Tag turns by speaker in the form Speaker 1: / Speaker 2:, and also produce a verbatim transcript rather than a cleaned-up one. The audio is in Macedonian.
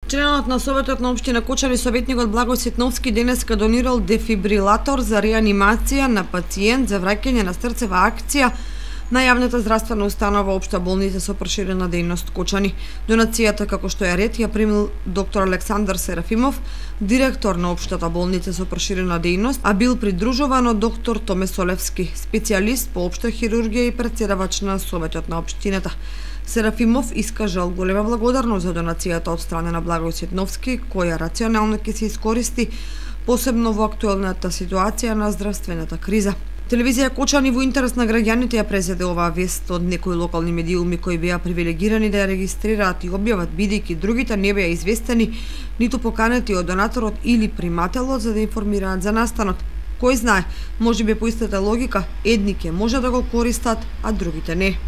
Speaker 1: Членот на Советот на општина Кочани, советникот Благој Светновски, денеска донирал дефибрилатор за реанимација на пациент за враќање на срцева акција на јавната здравствена установа Општа болница со проширена дејност Кочани. Донацијата, како што е ред, ја примил доктор Александар Серафимов, директор на Општата болница со проширена дејност, а бил придружуван од доктор Томе Солевски, специјалист по општа хирургија и претседавач на Советот на општината. Серафимов искажал голема благодарност за донацијата од страна на Благој Светновски, која рационално ќе се искористи, посебно во актуелната ситуација на здравствената криза. Телевизија Кочани во интерес на граѓаните ја презеде оваа вест од некои локални медиуми кои беа привилегирани да ја регистрираат и објават, бидејќи другите не беа известени, ниту поканети од донаторот или примателот за да информираат за настанот. Кој знае, можеби по истата логика, едни ќе може да го користат, а другите не.